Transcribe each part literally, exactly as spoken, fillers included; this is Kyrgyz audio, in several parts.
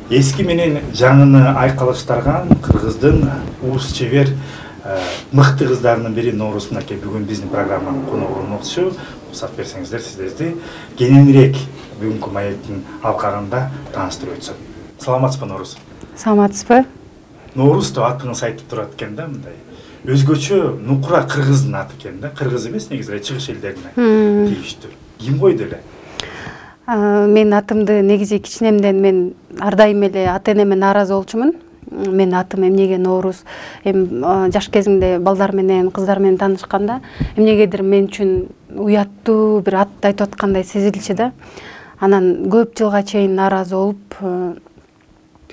Эски менен жаңыны айкалыштарган Кыргыздын уус чебер мыкты кыздарынын бири Ноорус Мынакей бүгүн биздин программанын коногу болмокчу. Уруксат берсеңиздер, сиздерди кененирээк бүгүнкү маектин алкагында тааныштырып өтсөм. Саламатсызбы Ноорус? Саламатсызбы? Ноорус деп атыңыз айтып турат экен да, мындай. Өзгөчө нукура кыргыздын аты экен да. Кыргыз эмес, негизи чыгыш элдерине тийиштүү. Ким койду эле? Мен атымды негизи кичинемден мен ар дайым эле ата-энеме нааразы болчумун. Мен атым эмнеге Ноорус? Эми жаш кезимде балдар менен, кыздар менен таанышканда эмнегедир мен үчүн уяттуу бир ат айтып аткандай сезилчү да. Анан көп жылга чейин нааразы болуп,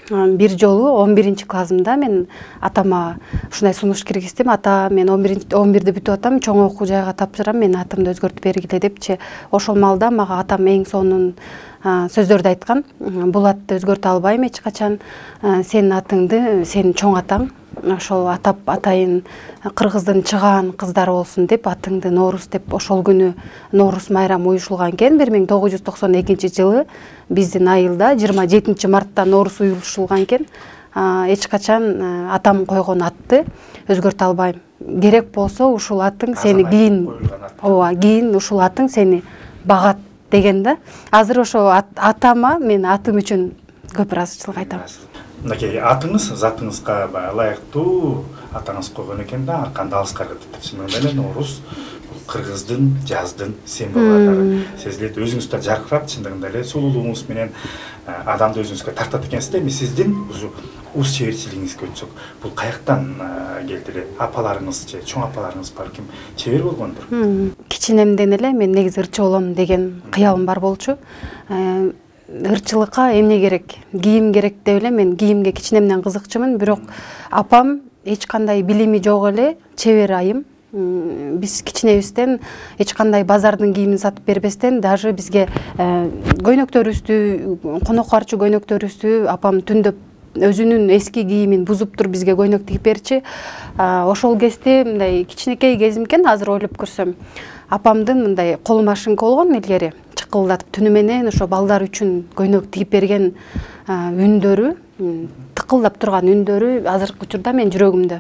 бир жолу он биринчи классымда мен атама ушундай сунуш киргиздим. Ата, мен он бирди бүтүп атам, чоң окуу жайга тапшырам, мен атымды өзгөртүп бергиле депчи. Ошол маалда мага атам эң сонун сөздөрдү айткан. Бул атты өзгөртө албайм эч качан. Сенин атыңды сенин чоң атаң ошол атап атайын Кыргыздын чыгаан кыздары болсун деп атыңды Ноорус деп ошол күнү Ноорус майрамы уюшулган экен. бир миң тогуз жүз токсон экинчи жылы биздин айылда жыйырма жетинчи мартта Ноорус уюшулган экен. Эч качан атам койгон атты өзгөртө албайм. Керек болсо ушул атың сени кийин ооба кийин ушул атың сени багат деген да. Азыр ошо атама мен атым үчүн көп ыраазычылык айтам. Мынакей атыңыз затыңызга ылайыктуу атаңыз койгон экен да, арканды алыскар кетип. Чынында эле Ноорус Кыргыздын жаздын символу сезилет. Өзүңүз да жаркырап, чындыгында эле сулуулугуңуз менен адамды өзүңүзгө тартат экенсиз да. Эми сиздин уус чеберчилигиңизге өтсөк, бул каяктан келди эле? Апаларыңыз же чоң апаларыңыз балким чебер болгондур. Кичинемден эле мен негизи ырчы болом деген кыялым бар болчу. Ырчылыкка эмне керек? Кийим керек деп эле мен кийимге кичинемден кызыкчумун, бирок апам эч кандай билими жок эле чебер айым. Биз кичинебизден эч кандай базардын кийимин сатып бербестен даже бизге көйнөктөрүбүздү, конок карчы көйнөктөрүбүздү апам түндөп өзүнүн эски кийимин бузуп туруп бизге көйнөк тигип берчи. Ошол кезде мындай кичинекей кезим экен, азыр ойлоп көрсөм. Апамдын мындай кол машинка болгон илгери, чыкылдатып түнү менен ошо балдар үчүн көйнөк тигип берген үндөрү, тыкылдап турган үндөрү азыркы учурда мен жүрөгүмдө.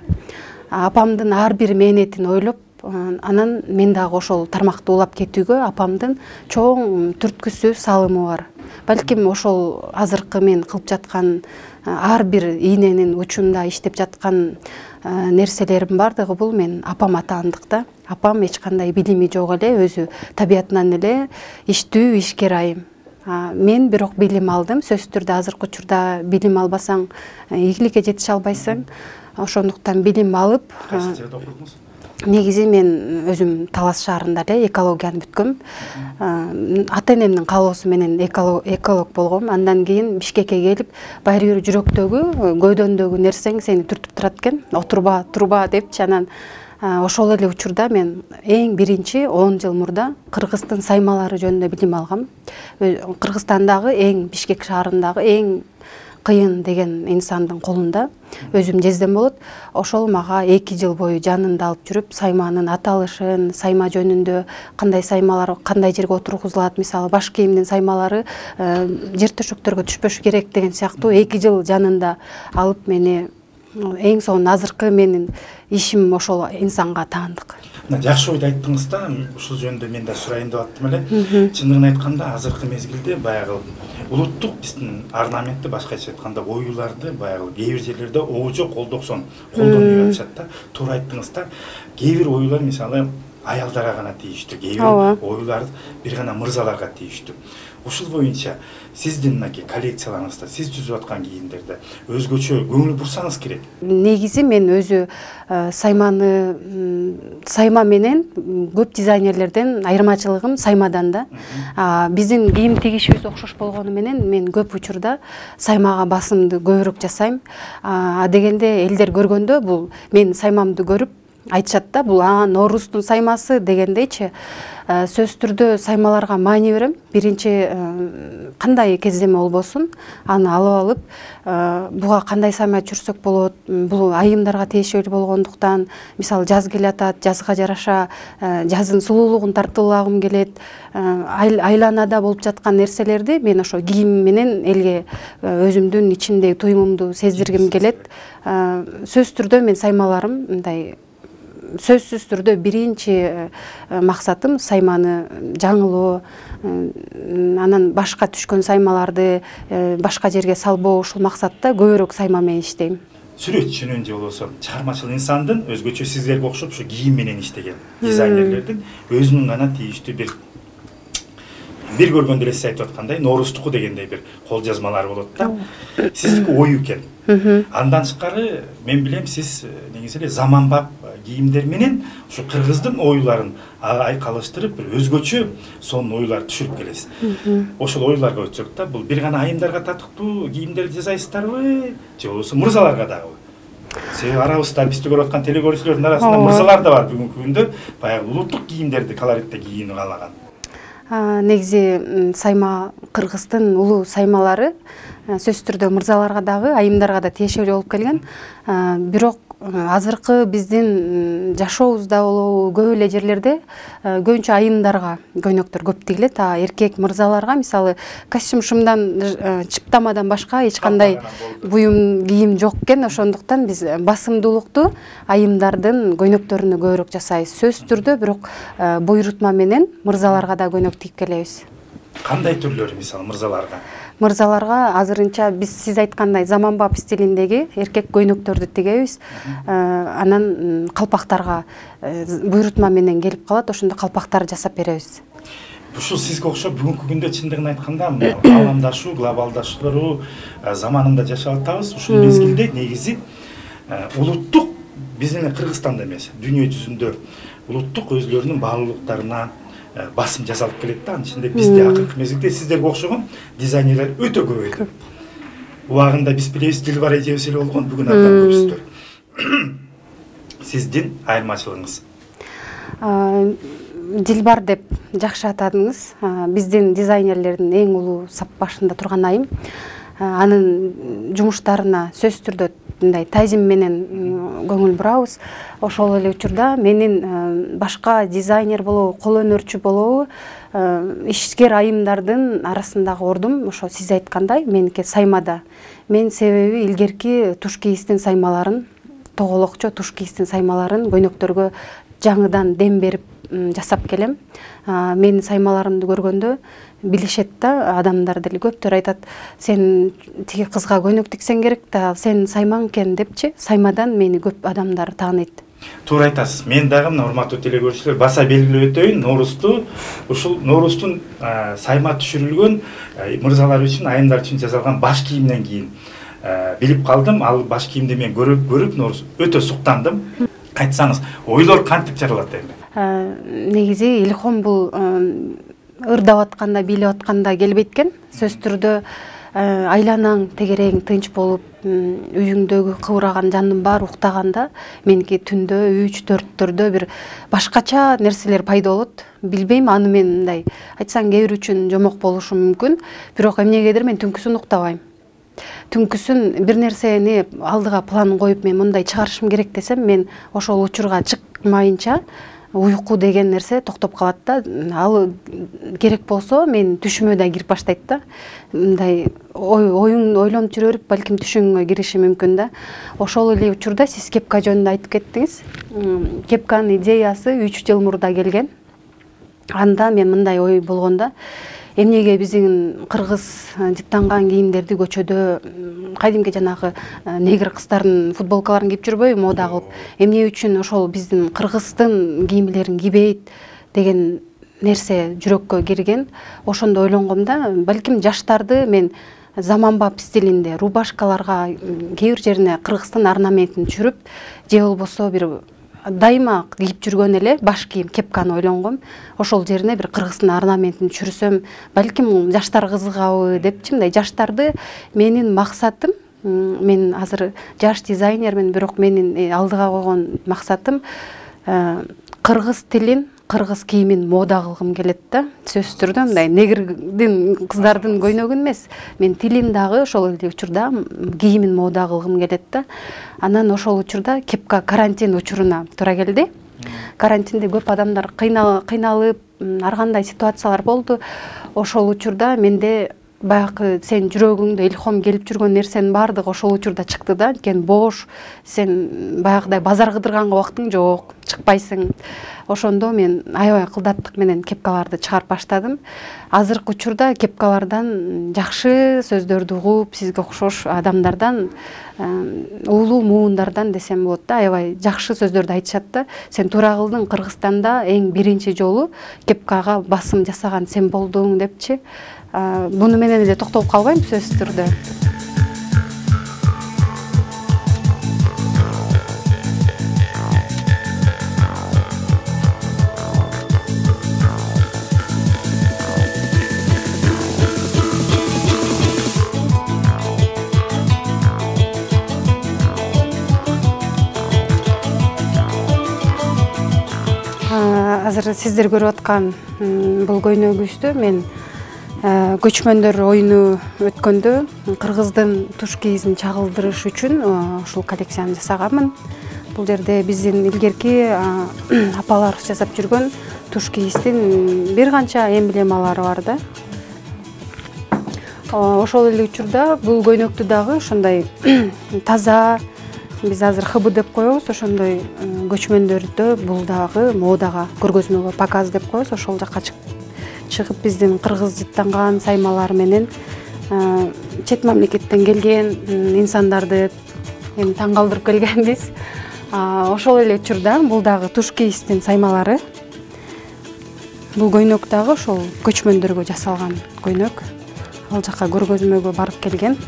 Апамдын ар бир мээнетин ойлоп, анан мен дагы ошол тармакты улап кетүүгө апамдын чоң түрткүсү, салымы бар. Балким ошол азыркы мен кылып жаткан ар бир ийненин учунда иштеп жаткан нерселерим бардыгы бул мен апам атаандык да. Апам эч кандай билими жок эле, өзү табиятынан эле иштүү, ишкер айым. Мен бирок билим алдым. Сөзсүз түрдө азыркы учурда билим албасаң ийгиликке жетише албайсың. Ошондуктан билим алып, кайсы жерде окудуңуз? Негизи мен өзүм Талас шаарында эле экологияны бүткөм. Ата-энемдин каалоосу менен эколог болгом. Андан кийин Бишкекке келип, баары бир жүрөктөгү, көйдөндөгү нерсең сени түртүп турат экен. Отурба, турба депчи. Анан ошол эле учурда мен эң биринчи он жыл мурда Кыргыздын саймалары жөнүндө билим алгам. Кыргызстандагы эң, Бишкек шаарындагы эң кыйын деген инсандын колунда өзүм жездем болот. Ошол мага эки жыл бою жанында алып жүрүп, сайманын аталышын, сайма жөнүндө кандай саймалар кандай жерге отургузулат, мисалы баш кийимдин саймалары жер төшөктөргө түшпөшү керек деген сыяктуу эки жыл жанында алып мени эң сонун азыркы менин ишим ошол инсанга таандык. Жакшы ойду айттыңыз да, ушул жөнүндө мен да сурайын деп аттым эле. Чындыгын айтканда азыркы мезгилде баягы улуттук биздин орнаментти, башкача айтканда оюларды баягы кээ бир жерлерде оожо колдоксон колдонуп жатышат да. Туура айттыңыз да. Кээ бир оюлар мисалы аялдарга гана тийиштүү, кээ бир оюлар бир гана мырзаларга тийиштүү. Ушул боюнча сиздин мынакей коллекцияларыңызда, сиз түзүп аткан кийимдерде өзгөчө көңүл бурсаңыз керек. Негизи мен өзү сайманы сайма менен көп дизайнерлерден айырмачылыгым саймадан да. Биздин кийим тигишибиз окшош болгону менен мен көп учурда саймага басымды көбүрөөк жасайм. А дегенде элдер көргөндө бул мен саймамды көрүп айтышат да, бул а Ноорустун саймасы дегендейчи. Сөзсүз түрдө саймаларга маани берем. Биринчи кандай кездеме болбосун, аны алып алып, буга кандай сайма чүрсөк болот, бул айымдарга тиешелүү болгондуктан, мисалы жаз келатат, жазга жараша жаздын сулуулугун тартуулагым келет, айланада болуп жаткан нерселерди мен ошо кийим менен элге өзүмдүн ичимдеги туюмумду сездиргим келет. Сөзсүз түрдө мен саймаларым мындай сөзсүз түрдө биринчи максатым сайманы жаңылоо, анан башка түшкөн саймаларды башка жерге салбоо, ушул максатта көбүрөөк сайма менен иштейм. Сүрөтчүнүн же болбосо чыгармачыл инсандын өзгөчө сиздерге окшоп ушу кийим менен иштеген дизайнерлердин өзүнүн гана тийиштүү бир бир көргөндө эле сиз айтып аткандай Ноорустуку дегендей бир кол жазмалары болот да. Сиздики ою экен. Андан тышкары мен билем сиз негизи эле заманбап кийимдер менен ушу кыргыздын оюларын айкалыштырып бир өзгөчө сонун оюлар түшүрүп келесиз. Ошол оюларга өтсөк да, бул бир гана айымдарга татыктуу кийимдерди жасайсыздарбы же болбосо мырзаларга дагы? Себеби арабызда бизди көрүп аткан телекөрүүчүлөрдүн арасында мырзалар да бар бүгүнкү күндө баягы улуттук кийимдерди колоритте кийүүнү каалаган. Негизи сайма кыргыздын улуу саймалары сөзсүз түрдө мырзаларга дагы, айымдарга да тиешелүү болуп келген. Бирок азыркы биздин жашообузда болобу көп эле жерлерде көбүнчө айымдарга көйнөктөр көп тигилет, а эркек мырзаларга мисалы костюм шымдан, чыптамадан башка эч кандай буюм кийим жок экен. Ошондуктан биз басымдуулукту айымдардын көйнөктөрүнө көбүрөөк жасайбыз. Сөзсүз түрдө бирок буйрутма менен мырзаларга да көйнөк тигип келебиз. Кандай түрлөрү мисалы мырзаларга? Мырзаларга азырынча биз сиз айткандай заманбап стилиндеги эркек көйнөктөрдү тигебиз. Анан калпактарга буйрутма менен келип калат, ошондо калпактар жасап беребиз. Ушул сизге окшоп бүгүнкү күндө чындыгын айтканда ааламдашуу, глобалдашуулуу заманында жашап атабыз. Ушул мезгилде негизи улуттук биздин Кыргызстанда эмес, дүйнө жүзүндө улуттук өзлөрүнүн баалуулуктарына басым жасалып келет да. Анын ичинде бизде акыркы мезгилде сиздерге окшогон дизайнерлер өтө көбөйдү. Убагында биз билебиз, Дилбар эжебиз эле болгон, бүгүн абдан көбүсүздөр. Сиздин айырмачылыгыңыз? Дилбар деп жакшы атадыңыз. Биздин дизайнерлердин эң улуу сап башында турган айым. Анын жумуштарына сөзсүз түрдө мындай тазим менен көңүл бурабыз. Ошол эле учурда менин башка дизайнер болобу, кол өнөрчү болобу, ишкер айымдардын арасындагы ордум ошо сиз айткандай меники саймада. Мен себеби илгерки туш кийиздин саймаларын, тоголокчо туш кийиздин саймаларын көйнөктөргө жаңыдан дем берип жасап келем. Менин саймаларымды көргөндө билишет да, адамдар деле көптөр айтат, сен тиги кызга көйнөк тиксең керек да, сен саймаң экен депчи, саймадан мени көп адамдар тааныйт. Туура айтасыз. Мен дагы мына урматтуу телекөрүүчүлөр баса белгилеп өтөйүн, Ноорусту ушул Ноорустун сайма түшүрүлгөн мырзалар үчүн, айымдар үчүн жасалган баш кийимден кийин билип калдым. Ал баш кийимди мен көрүп көрүп Ноорус өтө суктандым. Айтсаңыз, ойлор кантип жаралат эми? Негизи илхом бул ырдап атканда, бийлеп атканда келбейт экен. Сөзсүз түрдө айланаң, тегерең тынч болуп, үйүңдөгү кыбыраган жандын баары уктаганда, меники түндө үч төрттөрдө бир башкача нерселер пайда болот. Билбейм, аны мен мындай айтсаң кээ бир үчүн жомок болушу мүмкүн, бирок эмнегедир мен түнкүсүн уктабайм. Түнкүсүн бир нерсени алдыга план коюп мен мындай чыгарышым керек десем, мен ошол учурга чыкмайынча уйку деген нерсе токтоп калат да. Ал керек болсо мен түшүмө да кирип баштайт да. Мындай оюң ойлонуп жүрө берип, балким түшүңө кириши мүмкүн да. Ошол эле учурда сиз кепка жөнүндө айтып кеттиңиз. Кепканын идеясы үч жыл мурда келген. Анда мен мындай ой болгондо, эмнеге биздин кыргыз жыттанган кийимдерди көчөдө кайдимки жанагы негр кыздардын футболкаларын кийип жүрбөйбү, мода кылып, эмне үчүн ошол биздин кыргыздын кийимлерин кийбейт деген нерсе жүрөккө кирген. Ошондо ойлонгом да, балким жаштарды мен заманбап стилинде рубашкаларга кээ бир жерине кыргыздын орнаментин түшүрүп, же болбосо бир дайыма кийип жүргөн эле баш кийим кепканы ойлонгом. Ошол жерине бир кыргыздын орнаментин түшүрсөм, балким жаштар кызыгабы депчи, мындай жаштарды менин максатым Мен азыр жаш дизайнермин, бирок менин алдыга койгон максатым кыргыз тилин, кыргыз кийимин мода кылгым келет да. Сөзсүз түрдө мындай негрдин, кыздардын көйнөгүн эмес, мен тилин дагы ошол эле учурда кийимин мода кылгым келет да. Анан ошол учурда кепка карантин учуруна туура келди. Карантинде көп адамдар кыйналып, ар кандай ситуациялар болду. Ошол учурда менде баягы сен жүрөгүңдө илхом келип жүргөн нерсенин баардыгы ошол учурда чыкты да. Анткени бош, сен баягыдай базар кыдырганга убактың жок, чыкпайсың. Ошондо мен аябай кылдаттык менен кепкаларды чыгарып баштадым. Азыркы учурда кепкалардан жакшы сөздөрдү угуп, сизге окшош адамдардан, уулуу муундардан десем болот да, аябай жакшы сөздөрдү айтышат да. Сен туура кылдың, Кыргызстанда эң биринчи жолу кепкага басым жасаган сен болдуң депчи. Буну менен эле токтолуп калбайм сөзсүз түрдө. Азыр сиздер көрүп аткан бул көйнөгүбүздү мен көчмөндөр оюну өткөндө кыргыздын туш кийизин чагылдырыш үчүн ушул коллекцияны жасаганмын. Бул жерде биздин илгерки апалар жасап жүргөн туш кийиздин бир канча эмблемалары бар да. Ошол эле учурда бул көйнөктү дагы ошондой таза, биз азыр ХБ деп коебуз, ошондой көчмөндөрдө бул дагы модага, көргөзмөгө показ деп коебуз, ошол жакка чыгып биздин кыргыз жыттанган саймалар менен чет мамлекеттен келген инсандарды эми таң калтырып келгенбиз. Ошол эле учурда бул дагы туш кийиздин саймалары. Бул көйнөк дагы ошол көчмөндөргө жасалган көйнөк. Ал жакка көргөзмөгө барып келген.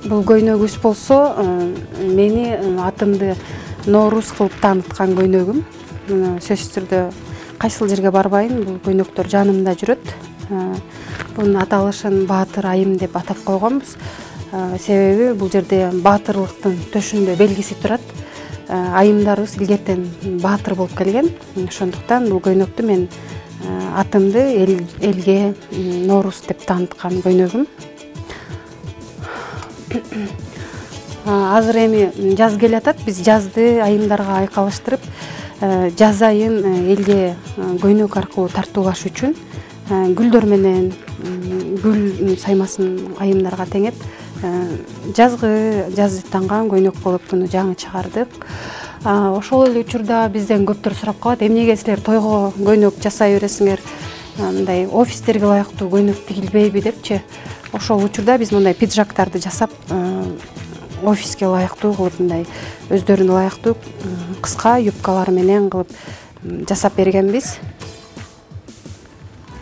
Бул көйнөгүбүз болсо мени атымды Ноорус кылып тааныткан көйнөгүм. Сөзсүз түрдө кайсыл жерге барбайын, бул көйнөктөр жанымда жүрөт. Бунун аталышын Баатыр айым деп атап койгонбуз. Себеби бул жерде баатырлыктын төшүндө белгиси турат. Айымдарыбыз илгертен баатыр болуп келген. Ошондуктан бул көйнөктү мен атымды элге Ноорус деп тааныткан көйнөгүм. Азыр эми жаз келатат, биз жазды айымдарга айкалыштырып, жаз айын элге көйнөк аркылуу тартуулаш үчүн гүлдөр менен гүл саймасын айымдарга теңеп, жазгы жаздыттанган көйнөк кылып буну жаңы чыгардык. Ошол эле учурда бизден көптөр сурап калат, эмнеге силер тойго көйнөк жасай бересиңер, мындай офистерге ылайыктуу көйнөк тигилбейби депчи. Ошол учурда биз мындай пиджактарды жасап, офиске ылайыктуу кылып, мындай өздөрүнө ылайыктуу кыска юбкалар менен кылып жасап бергенбиз.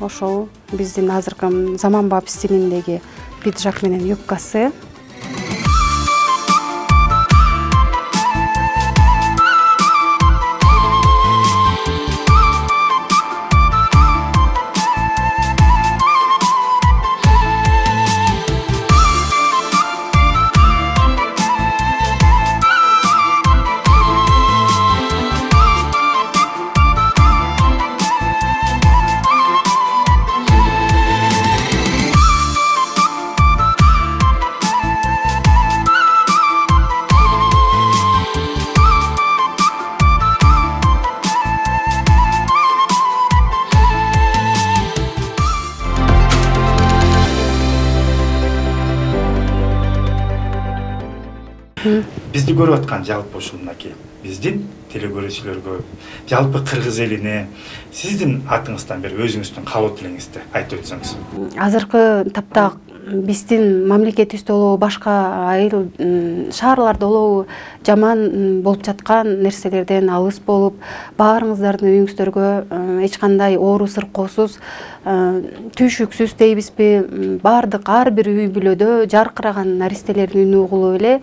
Ошол биздин азыркы заманбап стилиндеги пиджак менен юбкасы. Бизди көрүп аткан жалпы ушул мынакей биздин телекөрүүчүлөргө, жалпы кыргыз элине сиздин атыңыздан бир өзүңүздүн каалоо тилеңизди айтып өтсөңүз. Азыркы тапта биздин мамлекетибизде болобу, башка айыл шаарларда болобу жаман болуп жаткан нерселерден алыс болуп, баарыңыздардын үйүңүздөргө эч кандай оору сыркоосуз, түйшүксүз дейбизби, баардык ар бир үй бүлөдө жаркыраган наристелердин үнү угулуп эле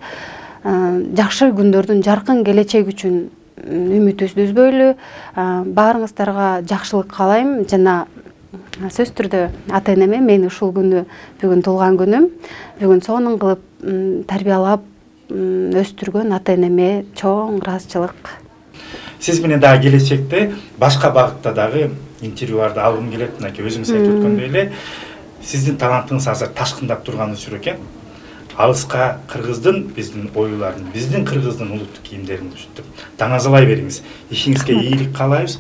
жакшы күндөрдүн, жаркын келечек үчүн үмүтүбүздү үзбөйлү. Баарыңыздарга жакшылык каалайм жана сөзсүз түрдө ата энеме мени ушул күнү бүгүн туулган күнүм, бүгүн сонун кылып тарбиялап өстүргөн ата энеме чоң ыраазычылык. Сиз менен дагы келечекте башка багытта дагы интервьюларды алгым келет. Мынакей өзүңүз айтып өткөндөй эле сиздин талантыңыз азыр ташкындап турган учур экен. Алыска кыргыздын биздин оюларын, биздин кыргыздын улуттук кийимдерин уштуп, таңазалай бериңиз. Ишиңизге ийгилик каалайбыз.